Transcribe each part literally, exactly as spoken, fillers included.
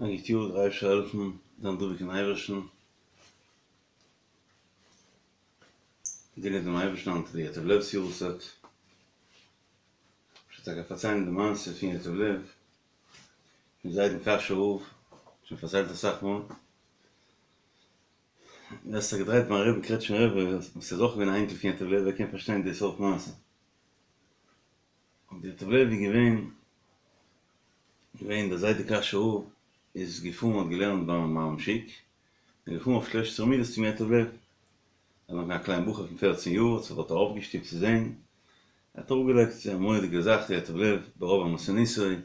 א גוט יאר, דער אייבערשטער זאל העלפן, זיין דבוק אין אייבערשטן, דינען דעם אייבערשטן היינט איז די ייטב לב'ס יארצייט, כ'וועל טאקע פארציילן די מעשה פון ייטב לב, פון זיידן קאשוי רב, שוין פארציילט אסאך מאל, ווער ס'האט זיך געדרייט ביים רבין קרעטשניפער רבי וואס איז אויך געווען א אייניקל פון ייטב לב ער קען פארשטיין די סארט מעשה. און די ייטב לב איז געווען געווען דער זיידע קאשוי רב איז געפארן האט געלערנט ביים מהר"ם שיק און געפארן אויף שלש עשרה מידות צום ייטב לב ער איז נאך געווען א קליין בחור פון פערצן יאר האט זיך דארט ארויפגעשטופט צו זען ער האט אראפגעלייגט א מורא'דיגע זאך די ייטב לב ברוב ענוותנותו ער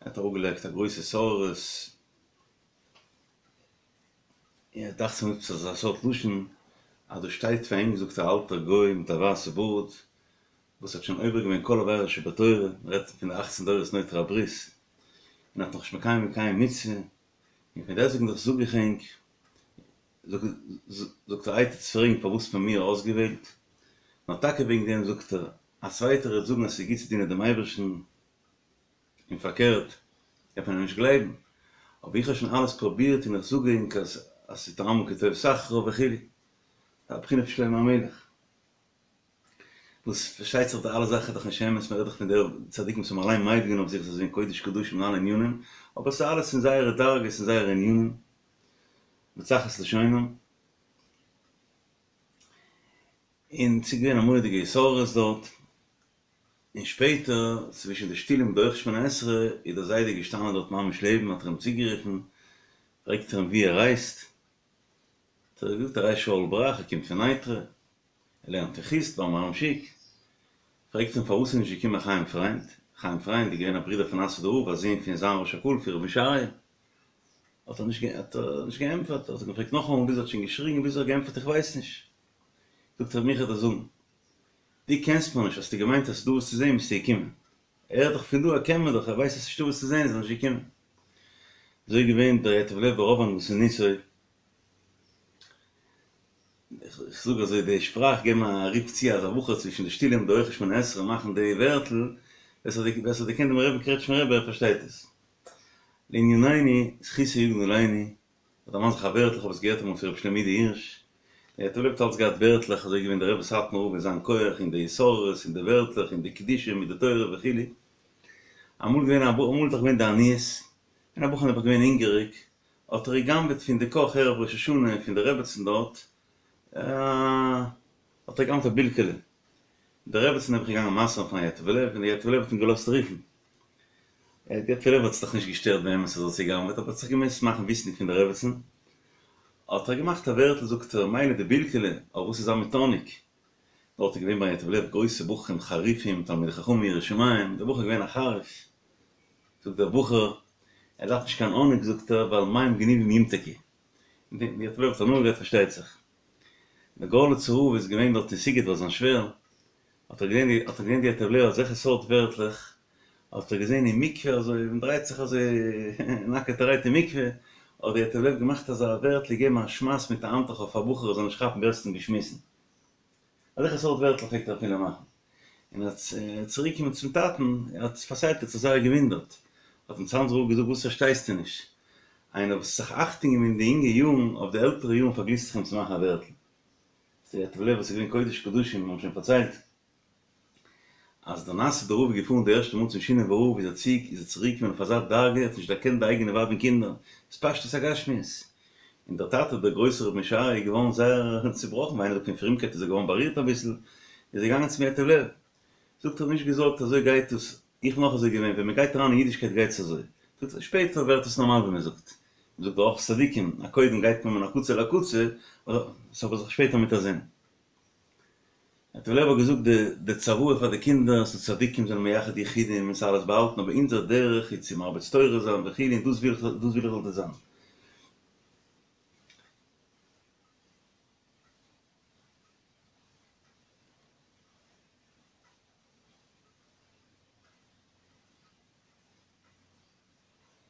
האט אראפגעלייגט א גרויסע התעוררות און דאכט זיך מיר עפעס אזא סארט לשון אז דא שטייט פאר אים געזאגט א אלטער גוי מיט א ווייסע בארד וואס האט שוין עובר געווען כל עבירה שבתורה, מען רעדט פון די אכצן דורות נוטרי הברית, און האט נאכנישט מקיים געווען קיין מצוה, און פון דעסטוועגן דאך זאג איך ענק, זאגט ער איר טוטס פרעגן פארוואס מען מיר אויסגעוועלט, נאר טאקע וועגן דעם זאגט ער, א צווייטער וועט זאגן אז ס'איז גוט צו דינען דעם אייבערשטן, און פארקערט, דארף מען אים נישט גלייבן, אבער איך האב שוין אלעס פרובירט און איך זאג ענק אז ס'איז טעמו כי טוב סחרה וכו', א בחינה פון שלמה המלך. וואס פארשטייט זיך די אלע זאכן איז דאך נישט אמת, מ'רעדט דאך פון די צדיקים וואס האבן אליין מעיד געווען אויף זיך זיי זענען קודש קדשים אין אלע ענינים, אבער ס'איז אלעס אין זייערע דרגות און זייערע ענינים, בצחת לשונם. און ס'איז געווען א מורא'דיגע התעוררות דארט, און שפעטער צווישן די שטולים דורך שמונה עשרה איז דער זיידע געשטאנען דארט ממש לעבן האט ער אים צוגערופן, פרעגט ער אים וואו ער הייסט, האט ער געזאגט ער הייסט שאול בראך ער קומט פון נייטרא, ער לערנט אין חוסט ביים מהר"ם שיק, פרעגט אים פארוואס איז נישט געקומען חיים פריינד, חיים פריינד איז געווען א ברודער פון נאסוידער רב א זון פון זיין ראש הקהל פון רבי משה אריה, האט ער נישט האט ער נישט געענטפערט, האט ער געפרעגט נאכאמאל ביז ער האט שוין געשריגן ביז ער האט געענטפערט איך ווייס נישט, זאגט ער מיך וועט ער זאגן, דו קענסט מיר נישט האסטו געמיינט אז ס'איז דא וואס צו זען ביסטו געקומען, ער איז דאך פון דא ער קען מיר דאך ער ווייסט אז ס'נישטא וואס צו זען איז ער נישט געקומען, אזוי איז געווען דער ייטב לב ברוב ענוותנותו. איך זאג אזוי די שפראך געבן א רוף צו אז א בחור צווישן די שטולים די הויכע שמונה עשרה מאכן די ווערטל, ווער ס'האט געקענט דעם רבין קרעטשמער רבי ער פארשטייט עס. לענינינו, זכותו יגן עלינו, כ'דערמאן זיך א ווערטל איך האב עס געהערט אמאל פון רבי שלמה יודא הירש, דער ייטב לב האט אלץ געהאט ווערטלעך אזוי איז געווען דער רבי סאטמאר רב אין זיין כח און די התעוררות און די ווערטלעך און די קדושה מיט די תורה וכו' אמאל געווען א אמאל איז דאך געווען די עניות און א בחור נעבעך געווען הונגעריג האט ער גע'גנב'עט פון די קאך ערב ראש השנה פון די רעבעצן דארט, האט ער גע'גנב'ט א בילקעלע, די רעבעצן נעבעך געגאנגען מסר'ן פארן ייטב לב, און די ייטב לב האט אים געלאזט רופן, די ייטב לב האט זיך דאך נישט געשטערט באמת אז ער האט צוגע'גנב'עט, אבער האט זיך געמוזט מאכן וויסנדיג פון די רעבעצן, האט ער געמאכט א ווערטל זאגט ער, מילא די בילקעלע, אבער וואס איז זיין מיט האניג? דארט איז געווען ביים ייטב לב גרויסע בחורים חריפים תלמידי חכמים יראי שמים, דער בחור איז געווען א חריף, זאגט דער בחור, ער דארף נישט קיין האניג זאגט ער, ווייל מים גנובים ימתקו. די ייטב לב האט הנאה געהאט פארשטייט זיך. דער גארליצער רב איז געווען דארט אין סיגוט ביי זיין שווער, האט ער געזען האט ער געזען די ייטב לב אזעלכע סארט ווערטלעך, האט ער געזען אין מקווה אזוי מען דרייט זיך אזוי נאקעטערהייט אין מקווה, האט די ייטב לב געמאכט אזא ווערטל געגעבן א שמייס מיט א האנטוך אויף א בחור ער זאל נישט כאפן ווער עס האט אים געשמיסן. אזעלכע סארט ווערטלעך פלעגט ער אפילו מאכן. און ער איז צוריקגעקומען צום טאטן, ער האט פארציילט, ער האט זיך זייער געוואונדערט. האט אים צאנזער רב געזאגט, וואס פארשטייסטו נישט? איינער וואס האט זיך אכטונג געגעבן אין די יונגע יארן, אויף די עלטערע יארן פארגליסט זיך אים צו מאכן א ווערטל. ס'איז ייטב לב וואס איז געווען קודש קדשים, מיר האבן שוין פארציילט אז דער נאסוידער רב איז געפארן די ערשטע מאל צום שינאווער רב איז ער צוריק איז ער צוריק געקומען אויף אזא דרגה ער האט נישט דערקענט די אייגענע ווייב און קינדער התפשטות הגשמיות און דער טאטע דער גרויסער רבי משה אריה איז געווארן זייער צובראכן ווי איינער זאגט פון פרומקייט איז ער געווארן בארירט אביסל איז ער געגאנגען צום ייטב לב זאגט ער נישט געזארגט אזוי גייט עס איך בין אויך אזוי געווען ווען מען גייט אריין אין אידישקייט גייט עס אזוי זאגט ער שפעטער ווערט עס נארמאל ווי מען זאגט מען זאגט אורחות צדיקים אז קודם גייט מען מן הקצה אל הקצה ס'האט זיך שפעטער מיט א זין. ייטב לב האט געזאגט די די צוואה פאר די קינדער אז צדיקים זענען מייחד יחודים און ס'אלעס באהאלטן אבער אונזער דרך איז צו מרביץ תורה זיין וכו' און דאס וויל איך דאס וויל איך זאלט איר זיין.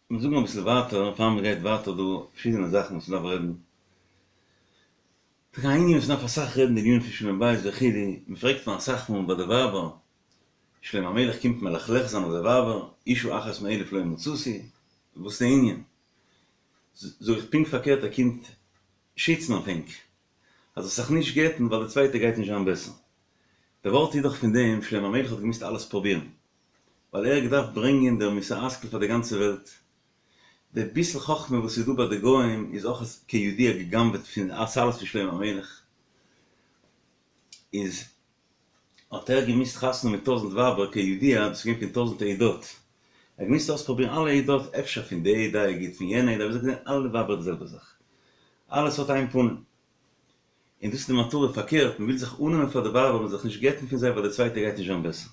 מיר זאגן אביסל ווייטער פאר מ'גייט ווייטער דא פארשידענע זאכן וואס מ'דארף רעדן. ס'איז א ענין וואס מ'דארף אסאך רעדן די ענינים פון שלום בית וכו', מ'פרעגט מיר אסאך מאל ביי די ווייבער, שלמה המלך קומט מלכלך זיין אויף די ווייבער, אשה אחת מאלף לא מצאתי, וואס איז די ענין? זאג איך פונקט פארקערט ער קומט שיצן אויף ענק אז זאלסט זיך נישט גט'ן ווייל די צווייטע גייט נישט זיין בעסער. די ווארט איז דאך פון דעם שלמה המלך האט געמוזט אלעס פרובירן ווייל ער האט געדארפט ברענגען דער מוסר השכל פאר די גאנצע וועלט. די ביסל חכמה וואס איז דא ביי די גוים איז אויך כידוע גע'גנב'עט פון אלעס פון שלמה המלך. איז האט ער געמוזט חתונה מיט טויזנט ווייבער כידוע דאס איז געווען פון טויזנט עדות. ער האט געמוזט אויספרובירן אלע עדות אפשר פון די עדה איז גוט פון יענע עדה אבער זיי זענען אלע ווייבער די זעלבע זאך. אלעס האט איין פנים. און דאס איז די מטרה פארקערט, מען וויל זיך אננעמען פאר די ווייבער, מען זאל זיך נישט גט'ן פון זיי ווייל די צווייטע גייט נישט זיין בעסער.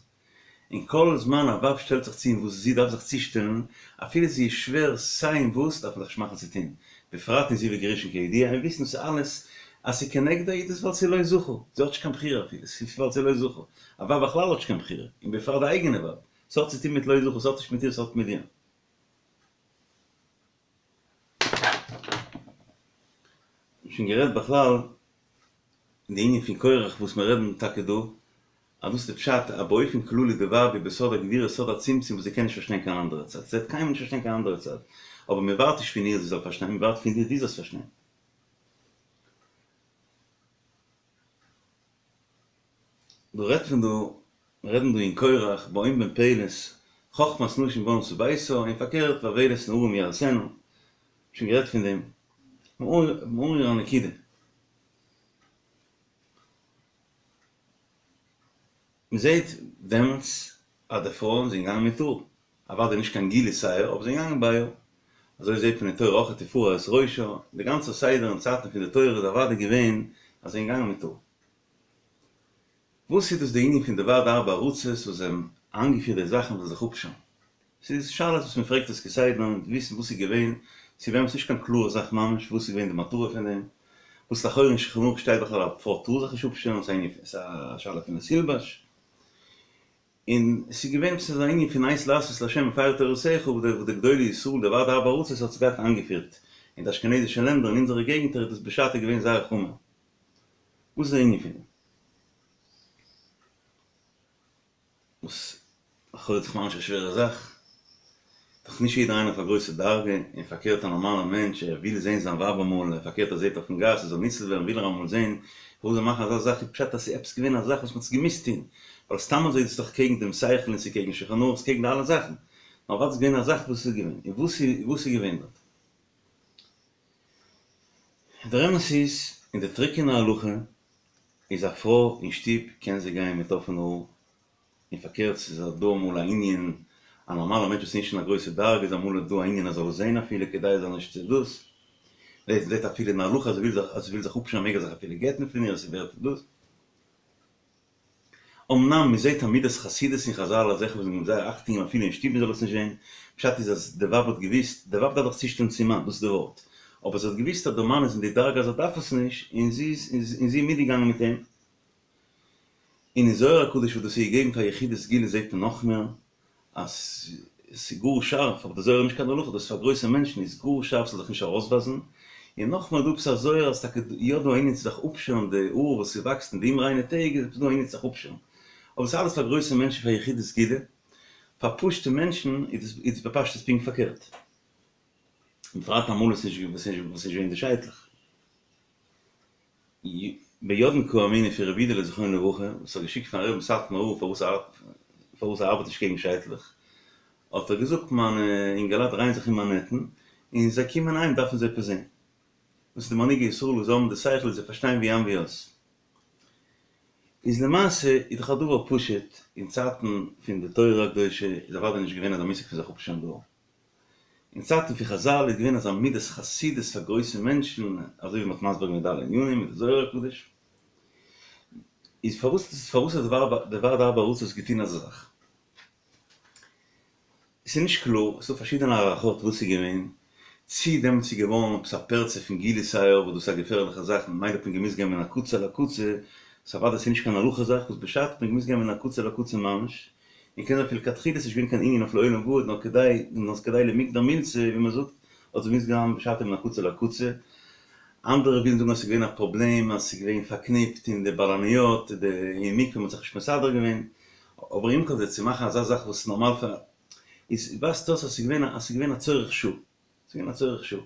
און כל זמן א ווייב שטעלט זיך צו אין וואס זי דארף זיך צושטעלן, אפילו זי איז שווער סיי אין וואס, דארף מען זיך נישט מאכן צו טון, בפרט אין זיווג ראשון כידוע, און וויסן דאס אלעס אז ס'איז כנגדה איז דאס ווייל ס'איז לא זכו, זי האט נישט קיין בחירה אפילו, ס'איז ווייל ס'איז לא זכו. א ווייב בכלל האט נישט קיין בחירה, און בפרט די אייגענע ווייב. ס'האט צו טון מיט לא זכו, ס'האט נישט מיט איר, ס'האט מיט דיר. שוין גערעדט בכלל די ענין פון קורח וואס מיר רעדן טאקע דא, אז דאס איז די פשט אז באופן כללי די ווייב איז בסוד הגבורה סוד הצמצום וואס זי קען נישט פארשטיין קיין אנדערע צד, זי וועט קיינמאל נישט פארשטיין קיין אנדערע צד, אבער מען ווארט נישט פון איר זי זאל פארשטיין, מען ווארט פון דיר דו זאלסט פארשטיין. דא רעדט מען דא, מיר רעדן דא אין קורח, באון בן פלת, חכמת נשים בנתה ביתה, און פארקערט ואוולת נערים יהרסנה, שוין גערעדט פון דעם, מעורר א נקודה. מען זעט דעמאלטס אז די פרויען זענען געגאנגען מיט האר, אוודאי נישט קיין גילוי שער, אבער זיי זענען געגאנגען ביי האר. אזוי זעט מען אין תורה אויך ופרע את ראשה, די גאנצע סדר אין צייטן פון די תורה איז אוודאי געווען אז זיי זענען געגאנגען מיט האר. וואס איז דאס די ענין פון די ועד ארבע ארצות וואס זיי האבן איינגעפירט די זאכן וואס זיך אפשערן? ס'איז שאלות וואס מען פרעגט עס כסדר און וויסן וואס איז געווען, ס'איז באמת נישט קיין קלארע זאך ממש וואס איז געווען די מטרה פון דעם, וואס לכאורה אין שולחן ערוך שטייט בכלל א פרוי טאר זיך נישט אפשערן, ס'איז א שאלה פון לא תלבש, און ס'איז געווען עפעס אזא ענין פון עת לעשות לה' הפרו תורתך וואס די גדולי ישראל די ועד ארבע ארצות האט עס געהאט איינגעפירט אין די אשכנזישע לענדער אין אונזערע געגנטער איז דאס בשעתו געווען זייער חמור. וואס איז דער ענין פון דעם? וואס לכאורה איז דאך ממש א שווערע זאך, דאך נישט יעדער איינער אויף א גרויסע דרגה, און פארקערט א נארמאלער מענטש ער וויל זען זיין ווייב אמאל, און פארקערט ער זעט אויפן גאס ער זאל ניצול ווערן וויל ער אמאל זען, פארוואס זאל מאכן אזא זאך איז פשט אז ס'איז עפעס געווען א זאך וואס מ'האט עס געמוזט טון, ווייל סתם אזוי איז עס דאך קעגן דעם שכל און ס'איז קעגן שולחן ערוך, ס'איז קעגן די אלע זאכן, נאר אוודאי איז געווען א זאך וואס איז געווען, און וואס איז וואס איז געווען דארט? דער אמת איז, אין די טרוקענע הלכה איז א פרוי אין שטוב קען זי גיין מיט אפענע האר, און פארקערט ס'איז דא אמאל א ענין, א נארמאלער מענטש וואס איז נישט אין א גרויסע דרגה איז אמאל דא א ענין ער זאל עס זען אפילו כדי ער זאל נישט דאס, מ'זעט מ'זעט אפילו אין הלכה אז ער וויל זיך אז ער וויל זיך אפשערן מעג ער זיך אפילו גט'ן פון איר עס ווערט דאס. אמנם מ'זעט א מידת חסידות אין חזל אזעלכע וואס זענען זייער אכטונג אפילו אין שטוב מ'זאל עס נישט זען, פשט איז אז די ווייב האט געוויסט, די ווייב דארף זיך צושטעלן צום מאן, דאס איז די ווארט, אבער זי האט געוויסט אז דער מאן איז אין די דרגה אז ער דארף עס נישט, און זי איז און זי איז מיטגעגאנגען מיט אים. און אין זוהר הקדוש וואס דאס איז געגעבן פאר יחידי סגולה זעט מען נאך מער אז ס'איז גאר שארף, אבער די זוהר איז נישט קיין הלכה, דאס איז פאר גרויסע מענטשן, איז גאר שארף ס'זאל זיך נישט ארויסווייזן, און נאכמער דא עפעס א זוהר אז טאקע יא דא א ענין צו זיך אפשערן די האר וואס ס'וואקסט אין די אומריינע טעג איז עפעס דא א ענין צו זיך אפשערן, אבער ס'איז אלעס פאר גרויסע מענטשן פאר יחידי סגולה, פאר פשוטע מענטשן איז עס בפשטות פונקט פארקערט, בפרט אמאל וואס ס'איז נישט געווען די שייטלעך. ביודעין קאמינא פון רבי אידעלע זכרונו לברכה וואס האט געשיקט פארן רבין סאטמאר רב פארוואס ער פארוואס ער ארבעט נישט קעגן שייטלעך האט ער געזאגט מיינע אינגעלייט דרייען זיך אין מאנהעטן און זיי קומען אהיים דארפן זיי עפעס זעהן דאס איז די מנהיגי ישראל וואס זיי האבן די שכל און זיי פארשטיין ווי איין ווי אויס איז למעשה איז דאך א דבר פשוט אין צייטן פון די תורה הקדושה איז אוודאי נישט געווען אזא מושג פון זיך אפשערן די האר. אין צייטן פון חזל איז געווען אזא מידת חסידות פאר גרויסע מענטשן, אזוי ווי מ'האט מסביר געווען די אלע ענינים מיט די זוהר הקדוש, איז פארוואס פארוואס האט די ועד ארבע ארצות געטון אזא זאך? ס'איז נישט קלאר, ס'איז דא פארשידענע הערכות וואס ס'איז געווען, צי דעמאלטס איז געווארן עפעס א פרצה פון גילוי שער וואס דאס איז א געפערליכע זאך ממילא האט מען געמוזט גיין מן הקצה לקצה, ס'איז אוודאי ס'איז נישט קיין הלכה זאך וואס בשעתו האט מען געמוזט גיין מן הקצה לקצה ממש, און קען זיין אפילו לכתחילה איז נישט געווען קיין ענין אויף לעולם ועד נאר כדי נאר כדי למגדר מילתא ווי מען זאגט האט עס געמוזט גיין בשעתו מן הקצה לקצה. אנדערע ווילן זאגן אז ס'איז געווען א פראבלעם אז ס'איז געווען פארקניפט אין די בלניות די אין מקווה מ'האט זיך נישט מסדר געווען אבער עם כל זה צו מאכן אזא זאך וואס נארמאל פאר איז ווייזט אויס אז ס'איז געווען אז ס'איז געווען א צורך שעה ס'איז געווען א צורך שעה.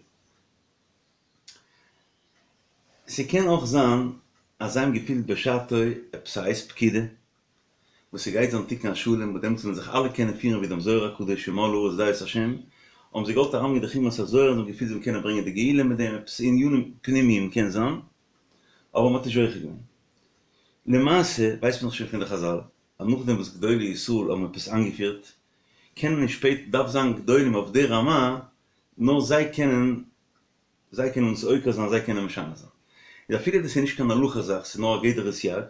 ס'קען אויך זיין אז זיי האבן געפילט בשעתו עפעס א עת פקידה, וואס ס'גייט זיין תיקון השלם, וואס דעמאלטס וועלן זיך אלע קענען פירן ווי דעם זוהר הקדוש ומלאה הארץ דעה את השם, האבן זיי געוואלט אריינברענגען די חומרת הזוהר און זיי האבן געפילט זיי קענען ברענגען די גאולה מיט דעם, עפעס ענינים פנימיים קען זיין, אבער מ'האט נישט זוכה געווען. למעשה ווייסט מען דאך שוין פון די חזל, אז נאכדעם וואס גדולי ישראל האבן עפעס איינגעפירט, קענען נישט שפעטער, דארף זיין גדולים אויף די רמה, נאר זיי קענען זיי קענען עס עוקר זיין, זיי קענען משנה זיין. איז אפילו דאס איז נישט קיין הלכה זאך, ס'איז נאר א גדר סייג,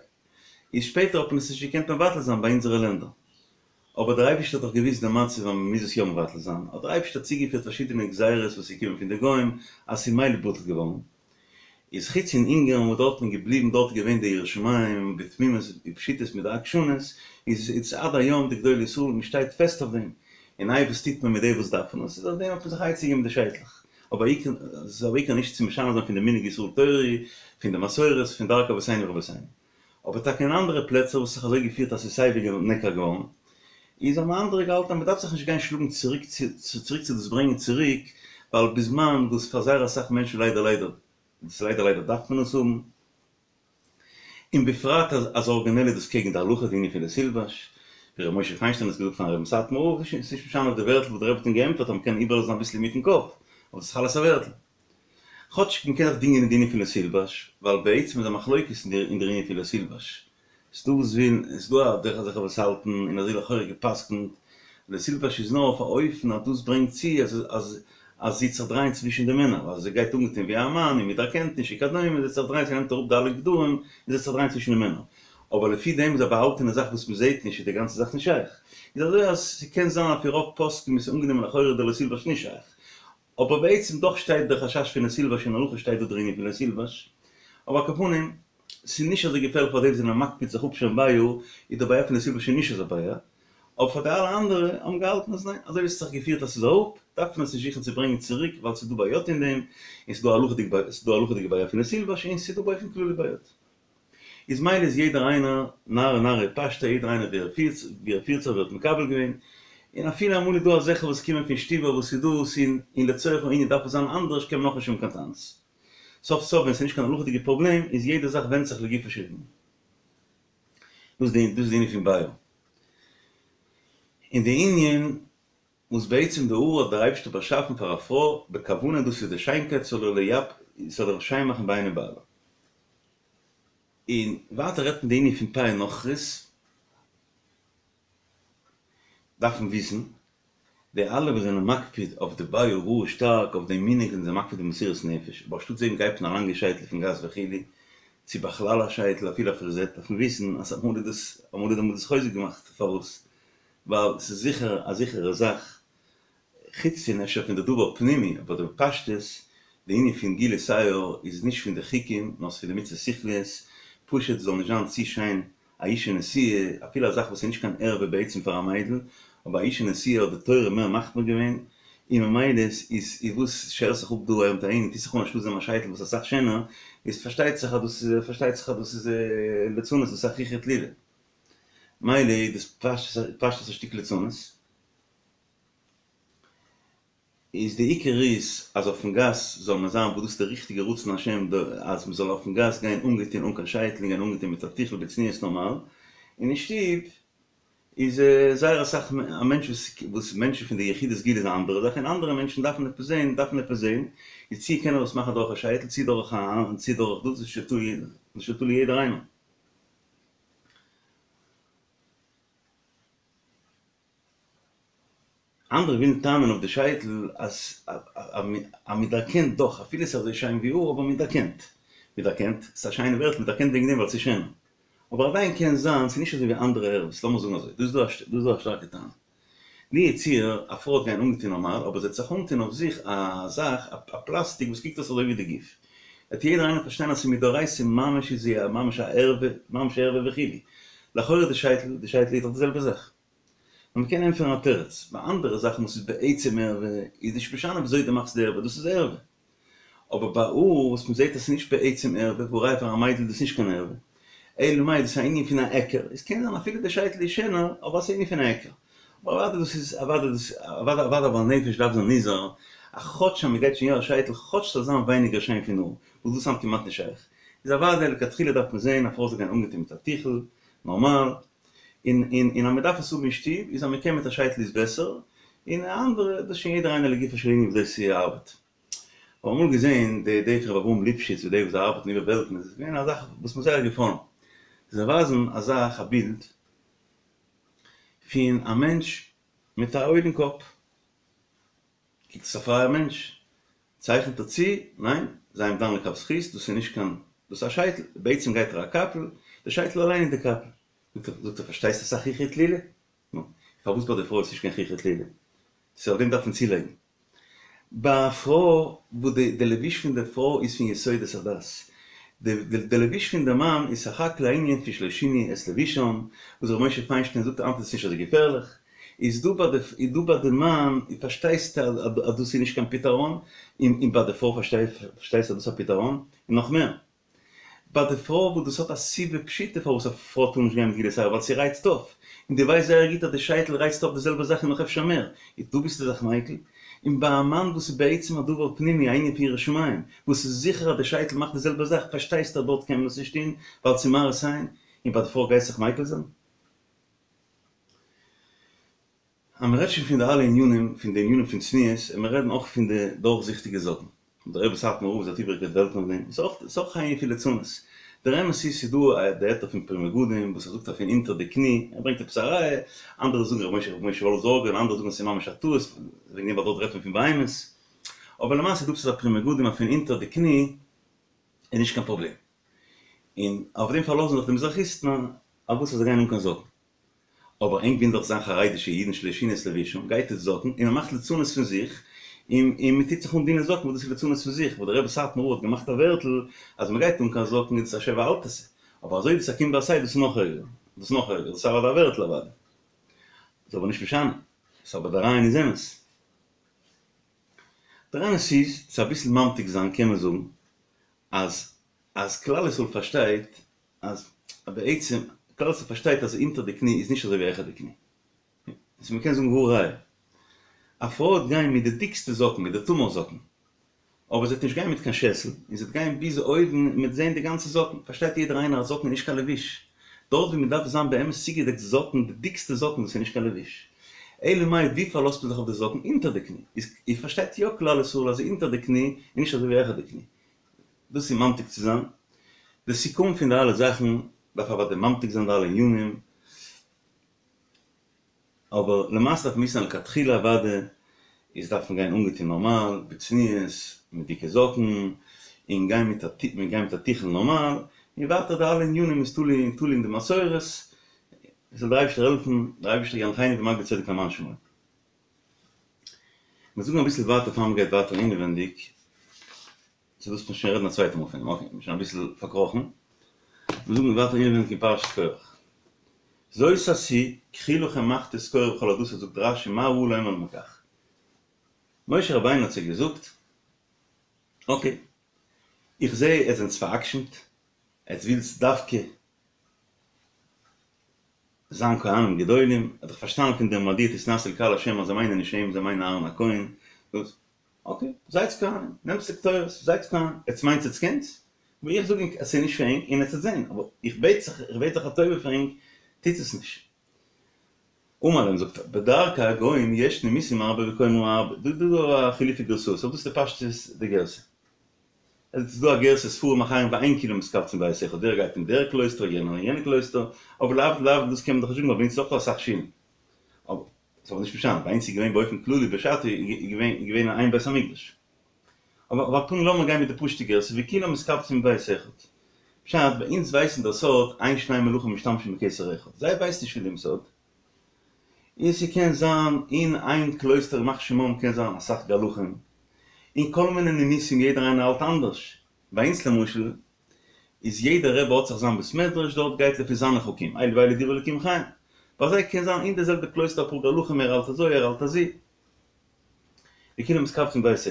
איז שפעטער האט מען עס נישט געקענט מבטל זיין ביי אונזערע לענדער. אבער דער אייבערשטער האט דאך געוואוסט די מצב אז מען מוז עס יא מבטל זיין, האט דער אייבערשטער צוגעפירט פארשידענע גזירות וואס איז געקומען פון די גוים, אז ס'איז מילא בטל געווארן. איז חוץ אין אונגארן וואס דארט איז מען געבליבן, דארט איז געווען די יראת שמים בתמימות ופשיטות מיט די עקשנות, איז איז עד היום די גדולי ישראל מען שטייט פעסט אויף דעם, און איי וואס טוט מען מיט די וואס דארפן עס, איז אויף דעם האט מען זיך עצה געגעבן מיט די שייטלעך, אבער עיקר ס'איז אבער עיקר נישט צו משנה זיין פון די מנהג ישראל תורה, פון די מסורת, פון דרכי אבותינו ורבותינו. אבער טאקע אין אנדערע פלעצער וואס האט זיך אזוי געפירט אז ס'איז סייווי נעקר געווארן, איז האבן אנדערע געהאלטן אז מ'דארף זיך נישט גיין שלאגן צוריק צו צוריק צו דאס ברענגען צוריק, ווייל בזמן וואס פאר זייער אסאך מענטשן ליידער ליידער, דאס ליידער ליידער דארף מען עס האבן, און בפרט אז אז ארגינעל איז דאס קעגן די הלכה די ענין פון לא תלבש, ווי ר' משה פיינשטיין האט געזאגט פארן רבי'ן סאטמאר רב, ס'איז נישט משנה אויף די ווערטל וואס דער רבי האט אים געענטפערט אז מ'קען איבערלאזן אביסל אינמיטן קאפ, אבער דאס איז אלעס א ווערטל. כאטש מ'קען זיך דינגען אין די ענין פון לא תלבש, ווייל בעצם איז א מחלוקת אין דער ענין פון לא תלבש. ס'דא וואס ווילן, ס'דא א דרך אזעלכע וואס האלטן, און אזוי לכאורה גע'פסק'נט, לא תלבש איז נאר אויף א אופן אז דאס ברענגט צו אז אז אז זי וועט זיך דרייען צווישן די מענער, ווייל זי גייט אנגעטון ווי א מאן און מ'דערקענט נישט וכדומה, זי וועט זיך דרייען, זי נעמט אראפ די אלע גדרים און זי וועט זיך דרייען צווישן די מענער. אבער לפי דעם איז א באהאלטענע זאך וואס מ'זעט נישט איז די גאנצע זאך נישט שייך. איז אזוי אז ס'קען זיין על פי רוב פוסקים איז אנגענומען לכאורה די לא תלבש נישט שייך. אבער בעצם דאך שטייט דער חשש פון לא תלבש אין הלכה שטייט דא דער ענין פון לא תלבש, אבער על כל פנים ס'איז נישט אזוי געפערליך פאר די וואס זענען מקפיד זיך אפשערן ביי האר, איז די בעיה פון לא תלבש נישט אזא בעיה, אבער פאר די אלע אנדערע האבן געהאלטן אז ניין, אזוי ווי ס'האט זיך געפירט אז ס'איז אראפ, דארף מען עס נישט זוכן צו ברענגען צוריק ווייל ס'איז דא בעיות אין דעם, און ס'איז דא הלכה'דיג ס'איז דא הלכה'דיגע בעיה פון לא תלבש און ס'איז דא באופן כללי בעיות. איז מילא איז יעדער איינער נהרא נהרא פשטיה יעדער איינער ווי ער פירט ווי ער פירט זיך ווערט מקבל געווען, און אפילו אמאל איז דא אזעלכע וואס קומען פון שטיבער וואס איז דאס און און לצורך הענין דארף עס זיין אנדערש קען מען נאכנישט האבן קיין טענות. סוף סוף ווען ס'איז נישט קיין הלכה'דיגע פראבלעם איז יעדע זאך ווענדט זיך לגופו של ענין. דאס די דאס איז די ענין פון ביאה. און די ענין וואס בעצם די האר האט דער אייבערשטער באשאפן פאר א פרוי בכוונה דאס איז די שיינקייט זאל איר ליפ זאל איר שיין מאכן בעיני בעלה. און ווייטער רעדט מען די ענין פון פאה נכרית, דארף מען וויסן, די אלע וואס זענען מקפיד אויף די ביאה גאר שטארק אויף דעם מנהג זענען זיי מקפיד במסירות נפש, אבער אנשטאט דעם גייט מען א לאנגע שייטל אויפן גאס וכו', צו בכלל א שייטל אפילו א פריזעט, דארף מען וויסן אז אמאל איז דאס אמאל איז דאס חוזק געמאכט, פארוואס? ווייל ס'איז זיכער א זיכערע זאך חוץ פון אפשר פון די דבר פנימי, אבער די פשטות, די ענין פון גילוי שער איז נישט פון די חוקים, נאר ס'איז פון די מצוות שכליות, פשוט זאל נישט זיין צו שיין א אישה נשואה, אפילו א זאך וואס איז נישט קיין ערווה בעצם פאר א מיידל, אבער א אישה נשואה האט די תורה מער מחמיר געווען, און ממילא איז איז וואס שערסט זיך אפ דא אהער מיט אהין און טוסט זיך אן אנשטאט דעם א שייטל וואס איז אסאך שענער, איז פארשטייט זיך אז דאס איז פארשטייט זיך אז דאס איז ליצנות, דאס איז א חוכא טלולא. מילא איז דאס פשטות א שטיק ליצנות. איז די עיקר איז אז אויפן גאס זאל מען זיין וואס דאס איז די ריכטיגע רצון השם אז מען זאל אויפן גאס גיין אנגעטון אן קיין שייטל און גיין אנגעטון מיט א טיכל בצניעות נארמאל, און אין שטוב איז זייער אסאך א מענטש וואס וואס מענטשן פון די יחידי סגולה איז א אנדערע זאך און אנדערע מענטשן דארפן עפעס זעהן דארפן עפעס זעהן איז צו קען ער עס מאכן דורך א שייטל צו דורך א צו דורך דאס איז שוין תלוי יעדער איינער. אנדערע ווילן טענה'ן אויף די שייטל אז אז מ'דערקענט דאך אפילו ס'איז אזוי שיין ווי האר אבער מ'דערקענט. מ'דערקענט, ס'איז א שיינע ווערטל מ'דערקענט וועגן דעם ווייל ס'איז שענער. אבער עדיין קען זיין ס'איז נישט אזוי ווי אנדערע ערוות, לאמיר זאגן אזוי, דא איז דא א שטארקע טענה. לו יצוייר א פרוי וועט גיין אנגעטון נארמאל אבער זי וועט זיך אנטון אויף זיך א זאך א פלאסטיק וואס קוקט אויס אזוי ווי די גוף וועט יעדער איינער פארשטיין אז ס'איז מדאורייתא ממש איז זי א ממש א ערווה ממש ערווה וכו' לכאורה די שייטל די שייטל איז דאך די זעלבע זאך. נאר מ'קען ענטפערן א תירוץ, ביי אנדערע זאכן וואס איז בעצם ערווה איז נישט משנה וויאזוי דו מאכסט די ערווה דאס איז ערווה. אבער ביי האר וואס מ'זעט אז ס'איז נישט בעצם ערווה, והא ראיה פאר א מיידל איז דאס נישט קיין ערווה, אלא מאי דאס איז א ענין פון א היכר, עס קען זיין אפילו די שייטל איז שענער אבער עס איז א ענין פון א היכר. אבער אוודאי דאס איז אוודאי דאס אוודאי אוודאי בעל נפש דארף זיין נזהר אז כאטש אז מ'גייט שוין יא א שייטל כאטש ס'זאל זיין ווייניגער שיין פון האר, וואס דאס היינט כמעט נישט שייך. איז אוודאי לכתחילה דארף מען זען א פרוי זאל גיין אנגעטון מיט א טיכל, נארמאל, און און און אז מען דארף עס האבן אין שטוב, איז אז מען קען מיט א שייטל איז בעסער, און אנדערע, דאס איז שוין יעדער איינער לגופו של ענין וויאזוי ס'ארבעט. כ'האב אמאל געזען די די פון ר' אברהם ליפשיץ ווי די וואס זיי ארבעטן איבער וועלטן איז עס געווען א זאך וואס מיר זייער געפאלן. זיי ווייזן א זאך א בילד פון א מענטש מיט א עול אין קאפ. קוקט עס א פרייער מענטש, צייכנט ער צו, ניין, זיי אים דן לכף זכות, דאס איז נישט קיין, דאס איז א שייטל, בעצם גייט ער א קאפל, די שייטל אליין איז די קאפל. זאגט ער, זאגט ער, פארשטייסט אסאך חוכא טלולא? נו, פארוואס ביי די פרוי איז נישט קיין חוכא טלולא? סאו אויף דעם דארף מען צולייגן. ביי א פרוי וואס די די לבוש פון די פרוי איז פון יסודות הדת, די די לבוש פון די מאן איז סך הכל א ענין פון שלא שינו את לבושם, וואס ר' משה פיינשטיין זאגט היינט איז עס נישט אזוי געפערליך, איז דא ביי די איז דא ביי די מאן פארשטייסטו אז דאס איז נישט קיין פתרון, און און ביי די פרוי פארשטייסטו אז דאס איז א פתרון, און נאך מער. ביי די פרוי וואס דאס האט א סיבה פשוטה פארוואס א פרוי טאר נישט גיין מיט גילוי שער ווייל ס'רייצט אויף, און דו ווייסט זייער גוט אז די שייטל רייצט אויף די זעלבע זאך און נאך אפשר מער, איז דא ביסטו זיך מיקל? און ביי א מאן וואס איז בעצם א דבר פנימי א ענין פון יראת שמים, וואס איז זיכער אז די שייטל מאכט די זעלבע זאך פארשטייסטו אז דארט קען מען עס נישט טון ווייל ס'איז מראית עין, און ביי די פרוי גייסט זיך מיקל זיין? אז מען רעדט שוין פון די אלע ענינים, פון די ענינים פון צניעות, און מען רעדן אויך פון די דורכזיכטיגע זאקן. דער רבי סאטמאר רב האט איבערגעקערט וועלטן אויף דעם. ס'איז אויך א ענין פון ליצנות. דער אמת איז ס'איז דא די היתר פון פרי מגדים וואס ער זאגט אז פון אונטער די קני, ער ברענגט עפעס א ראיה, אנדערע זאגן רבי משה רבי משה וואלף זארגער און אנדערע זאגן אז ס'איז ממש א טעות, וועגן דעם ווייל דארט רעדט מען פון בהמות. אבער למעשה איז דא עפעס א פרי מגדים אז פון אונטער די קני איז נישט קיין פראבלעם. און אויף דעם פארלאזן זיך די מזרחיסטן אז וואס אז זיי גייען אן קיין זאקן. אבער ענק ווילן דאך זיין חרדישע אידן שלא שינו את לבושם, גייט עטס זאקן און מען מאכט ליצנות פון זיך, און און מען טוט זיך אן דינע זאקן וואס דאס איז ליצנות פון זיך, וואס דער רבי סאטמאר רב האט געמאכט א ווערטל אז מען גייט אן קיין זאקן איז דאס א שב ואל תעשה, אבער אזוי ווי ס'איז א קום ועשה דאס איז נאך ערגער, דאס איז נאך ערגער, דאס איז אוודאי א ווערטל אוודאי, איז אבער נישט משנה, ס'איז אבער דער רעיון איז אמת. דער אמת איז, צו אביסל ממתיק זיין קען מען זאגן אז אז כלל ישראל פארשטייט אז בעצם כלל ישראל פארשטייט אז אונטער די קני איז נישט אזוי ווי העכער די קני. איז מ'קען זאגן והא ראיה. א פרוי וועט גיין מיט די דיקסטע זאקן, מיט די תמר זאקן, אבער זי וועט נישט גיין מיט קיין שעסל, און זי וועט גיין ביז אויבן און מ'וועט זען די גאנצע זאקן. פארשטייט יעדער איינער אז זאקן איז נישט קיין לבוש. דארט ווי מ'דארף זיין באמת צוגעדעקט זאקן, די דיקסטע זאקן, דאס איז נישט קיין לבוש. אלא מאי ווי פארלאזט מען זיך אויף די זאקן? אונטער די קני. איז פארשטייט יא כלל ישראל אז אונטער די קני איז נישט אזוי ווי העכער די קני. דאס איז ממתיק צו זיין. די סיכום פון די אלע זאכן דארף אוודאי ממתיק זיין די אלע ענינים, אבער למעשה דארף מען וויסן אז לכתחילה אוודאי איז דארף מען גיין אנגעטון נארמאל, בצניעות, מיט דיקע זאקן, און גיין מיט א גיין מיט א טיכל נארמאל, און ווייטער די אלע ענינים איז תלוי תלוי אין די מסורת, זאל דער אייבערשטער העלפן, דער אייבערשטער ינחני במגבית צדק למען שמו. מיר זאגן אביסל ווייטער פאר מ'גייט ווייטער אינעווענדיג. צו דאס מוז שוין רעדן א צווייטע מאל פון דעם, אקעי, מ'איז שוין אביסל פארקראכן. מיר זאגן ווייטער אינעווייניג אין פרשת קרח. זאת עשו, קחו לכם מחתות קורח וכל עדתו זאגט רש"י מה ראו לומר להם כך. משה רבינו האט זיי געזאגט, אקעי, איך זע עטס זענטס פאר'עקשנ'ט, עטס ווילטס דווקא זיין כהנים גדולים, האט דאך פארשטאנען פון דעם מדוע תתנשאו לקהל השם אז זיי מיינען נישט אים, זיי מיינען אהרן הכהן, דאס אקעי, זייטס כהנים, נעמטס די קטורת, זייטס כהנים, עטס מיינטס עטס קענטס? אבער איך זאג ענק אז ס'איז נישט פאר ענק און עטס וועט זען, אבער איך בעט זיך, איך בעט זיך א טובה פאר ענק, טוטס עס נישט. אמר להם זאגט ער, בדרכי הגוים יש נימוסים הרבה וקומרין הרבה, דא איז דא א חילופי גרסאות, אבער דאס איז די פשטות די גרסה. עס איז דא א גרסה ספרים אחרים ואין כולם מתקבצים בבית אחד, דער גייט אין דער קלויסטער, יענער אין יענע קלויסטער, אבער להבדיל להבדיל דאס קען מען דאך נישט זאגן ווייל ביי אונז איז אויך דא אסאך שולן. אבער ס'איז אבער נישט משנה, ביי אונז איז געווען באופן כללי בשעתו איז געווען איז געווען איין בית המקדש. אבער על כל פנים לאמיר גיין מיט די פשוט'ע גרסה וכולם מתקבצים בבית אחד. פשט, ביי אונז ווייסן דער סוד, אין שני מלכים משתמשים בכתר אחד. זיי ווייסן נישט פון דעם סוד. און ס'קען זיין אין איין קלויסטער ימח שמם קען זיין אסאך גלחים. און כל מיני נימוסים יעדער איינער האלט אנדערש. ביי אונז למשל איז יעדער רבי האט זיך זיין בית מדרש דארט גייט לפי זיינע חוקים אלו ואלו דברי אלקים חיים ביי זיי קען זיין אין די זעלבע קלויסטער אפאר גלחים ער האלט אזוי ער האלט אזי וכולם מתקבצים בבית אחד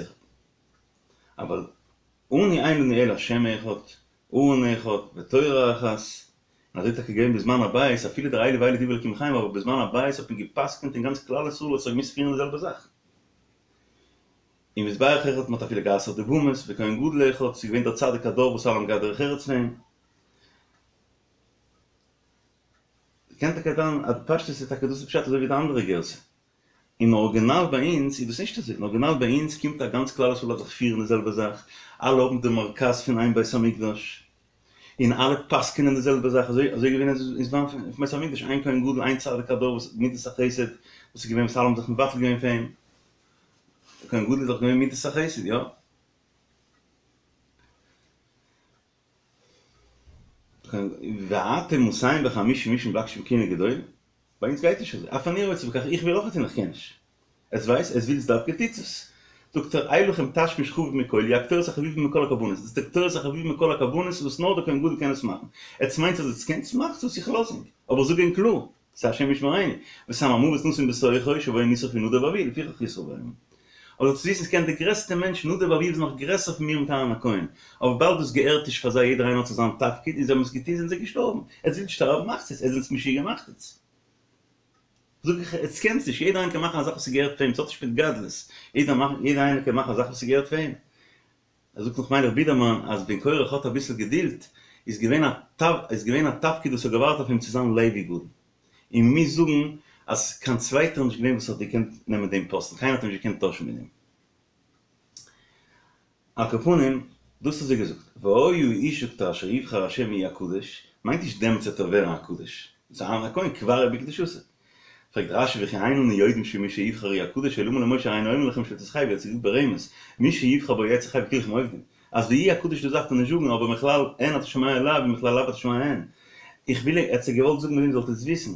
אבל אנו אין לנו אלא השם אחד ארון אחד ותורה אחת און אזוי טאקע געווען בזמן הבית אפילו דער אלו ואלו דברי אלקים חיים אבער בזמן הבית האט מען געפסקנט און גאנץ כלל ישראל האט זיך געמוזט פירן די זעלבע זאך. אין מזבח אחד מ'האט אפילו גע'אסר'ט די במות, וכהן גדול אחד, ס'איז געווען דער צדיק הדור וואס אלע האבן געהאט דרך ארץ פאר אים. קען טאקע זיין אז פשטות איז טאקע דאס איז פשט אזוי ווי די אנדערע גירסא. אין ארגינאל ביי אונז איז דאס נישט אזוי, אין ארגינאל ביי אונז קומט א גאנץ כלל ישראל דארף זיך פירן די זעלבע זאך, אלע האבן די מרכז פון איין בית המקדש, און אלע פסק'נען די זעלבע זאך, אזוי אזוי געווען אין זמן פון בית המקדש, איין כהן גדול, איין צדיק הדור וואס מידת החסד, וואס איז געווען וואס אלע האבן זיך מבטל געווען פאר אים, דער כהן גדול איז דאך געווען מידת החסד, יא? ואתם מאתים וחמישים איש מבקשים כהונה גדולה? ביי אונז גייט נישט אזוי, אף אני רוצה בכך, איך וויל אויך און איך קען נישט. עטס ווייסט, עטס ווילטס דווקא טוטס עס. זאגט ער, אי לכם תשמיש חביב מכל, הוא הקטורת החביבה מכל הקרבנות, דאס איז די קטורת החביבה מכל הקרבנות וואס נאר דער כהן גדול קען עס מאכן. עטס מיינטס אז עטס קענטס, מאכטס עס, איך לאז ענק. אבער איך זאג ענק קלאר, ס'איז השם ישמרינו, וסם המוות נסים בתוכו, שבו נשרפו נדב ואביהוא, לפיכך ישרף בהם. אבער זאלסט וויסן ס'קען די גרעסטע מענטש נדב ואביהוא איז נאך גרעסער פון מיר מיט אהרן הכהן, אבער וויבאלד דאס געהערט נישט פאר זיי יעדער איינער האט זיך זיין תפקיד און זיי האבן עס געטון זענען זיי געשטארבן, עטס ווילט שטארבן מאכטס עס, עטס זענטס משוגע מאכט עס. זאג איך עטס קענטס נישט, יעדער איינער קען מאכן א זאך וואס ס'געהערט פאר אים, ס'האט נישט מיט גדלות, יעדער מאכן יעדער איינער קען מאכן א זאך וואס ס'געהערט פאר אים. ער זאגט נאך מיילעך בידערמאן אז ווען קורח האט אביסל געדילט איז געווען א איז געווען א תפקיד וואס האט געווארט אויף אים צו זיין לוי גדול און מוז זאגן אז קיין צווייטער איז נישט געווען וואס האט געקענט נעמען דעם פאסטן קיינער האט אים נישט געקענט טוישן מיט דעם. על כל פנים דאס האט זי געזאגט והיה האיש זאגט ער אשר יבחר השם יהיה הקדוש מיינט נישט דעמאלטס וועט ער ווערן א קדוש ס'איז אהרן הכהן כבר בקדושתו פרעגט רש"י וכי אין אנו יודעים שמי שיבחר הוא הקדוש אלא אמר למשה הריני אומר לכם שלא תתחייבו האט זי געזאגט ברמז מי שיבחר בו יצא חי וכולכם עובדים אז ויהי הקדוש דאס דארף מען נישט זאגן אבער מכלל הן אתה שומע לאו ומכלל לאו אתה שומע הן איך וויל ער האט זיי געוואלט זאגן מיט דעם זאלט עטס וויסן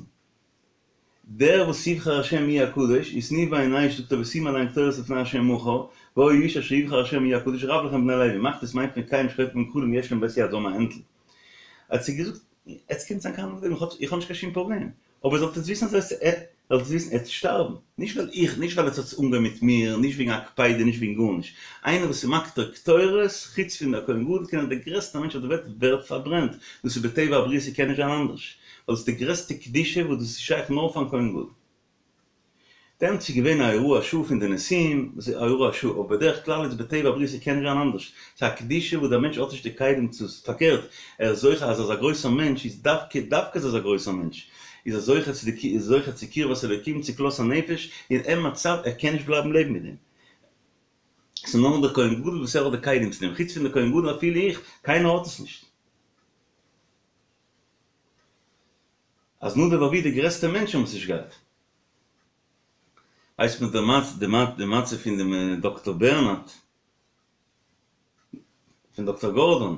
דער וואס יבחר השם יהיה הקדוש ותנו בהן אש זאגט ער ושימו עליהן קטורת לפני השם מחר והיה האיש אשר יבחר השם יהיה הקדוש רב לכם בני לוי מאכט עס מיינט מען כלים שחוטפין גחלים יש להם בית יד זאל מען הענדלן האט זי געזאגט עטס קענטס זיין כהנים גדולים איך האב נישט קיין שום פראבלעם אבער זאלט עטס וויסן אז עטס זאלט עטס וויסן עטס שטארבן, נישט ווייל איך, נישט ווייל עטס האטס אנגעהויבן מיט מיר, נישט וועגן א קפידה, נישט וועגן גארנישט, איינער וואס איז מקטיר קטורת, חוץ פון דער כהן גדול, קען דער גרעסטער מענטש אויף דער וועלט ווערט פארברענט, דאס איז בטבע הבריאה ס'קען נישט זיין אנדערש, ווייל דאס איז די גרעסטע קדושה וואס דאס איז שייך נאר פארן כהן גדול. דעמאלטס איז געווען א הוראת שעה פון די נשיאים, וואס איז א הוראת שעה, אבער בדרך כלל איז בטבע הבריאה ס'קען נישט זיין אנדערש, ס'איז א קדושה וואס דער מענטש האט נישט די כלים צו, פארקערט, ער איז זוכה אז אזא גרויסער מענטש איז דווקא, דווקא אז אזא גרויסער מענטש איז ער זוכה צו די, איז זוכה צו קרבת אלוקים, צו כלות הנפש, אין אין מצב, ער קען נישט בלייבן לעבן מיט דעם. ס'איז נאר דער כהן גדול וואס ער האט די כלים צו דעם, חוץ פון דער כהן גדול אפילו איך, קיינער האט עס נישט. אז נדב ואביהוא די גרעסטע מענטשן האבן עס נישט געהאט. ווייסט מען די די מעשה פון דעם דאקטאר בערנארד, פון דאקטאר גארדאן,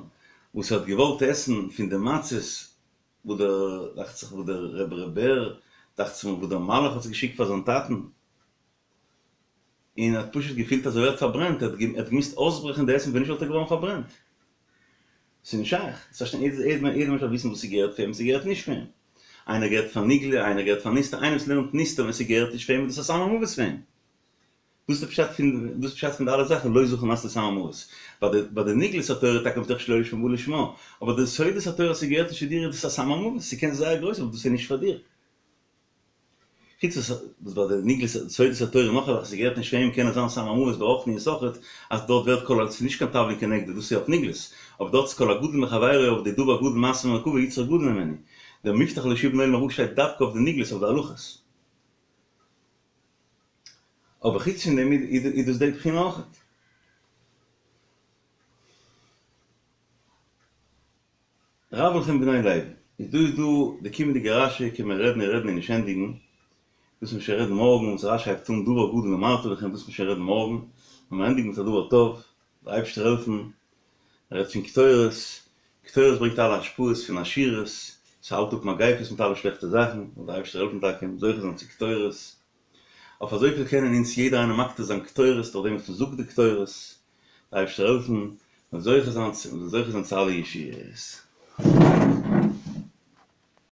וואס האט געוואלט עסן פון די מצות וואס דער, דאכט זיך וואס דער רבי ר' בער, דאכט זיך מיר וואס דער מלאך האט עס געשיקט פאר זיין טאטן, און ער האט פשוט געפילט אז ער ווערט פארברענט, ער האט געמוזט אויסברעכן די עסן ווען נישט וואלט ער געווארן פארברענט. ס'איז נישט שייך. יעדער מענטש דארף וויסן וואס ס'געהערט פאר אים און ס'געהערט נישט פאר אים. איינער געהערט פאר נגלה, איינער געהערט פאר נסתר, איינער וואס לערנט נסתר ווען ס'געהערט נישט פאר אים איז דאס א סם המוות פאר אים. דאס איז פשט פון דאס איז פשט פון די אלע זאכן לא זכו נעשה לסם המוות. ביי די ביי די נגלות התורה טאקע מתוך שלא לשמה בא לשמה, אבער די סודות התורה ס'געהערט נישט צו דיר איז דאס א סם המוות, ס'קען זייער גרויס אבער דאס איז נישט פאר דיר. חוץ וואס וואס ביי די נגלות סודות התורה נאך א זאך ס'געהערט נישט פאר אים קען עס זיין סם המוות ברוחניות אויכעט אז דארט ווערט כל ה ס'איז נישט קיין תבלין כנגדו דאס איז אויף נגלות אבער דארט איז כל הגדול מחבירו אויף די דבר גדול מעשה מרכבה יצרו גדול ממנו דער מובטח לו שיבנה עולם הבא שטייט דווקא אויף די נגלות אויף די הלכות אבער חוץ פון דעם איז דאס די בחינה אויכעט. רב לכם בני לוי, איז דא איז דא די קומענדיגע רשי קען מען רעדן און רעדן און נישט ענדיגן, דאס מיר שוין רעדן מארגן וואס רשי הייבט אן דבר גדול אמרתי לכם דאס מיר שוין רעדן מארגן, ווען מיר ענדיגן מיט א דבר טוב, דער אייבערשטער העלפן, מען רעדט פון קטורת, קטורת ברענגט אלע השפעות פון עשירות, ס'האלט אפ מגיפות מיט אלע שלעכטע זאכן, זאל דער אייבערשטער העלפן טאקע זוכה זיין צו קטורת, אויף אזויפיל קענען אונז יעדער איינער מקטיר זיין קטורת דורך דעם וואס מען זאגט די קטורת, דער אייבערשטער העלפן, מען זאל זוכה זיין צו, מען זאל זוכה זיין צו אלע ישועות.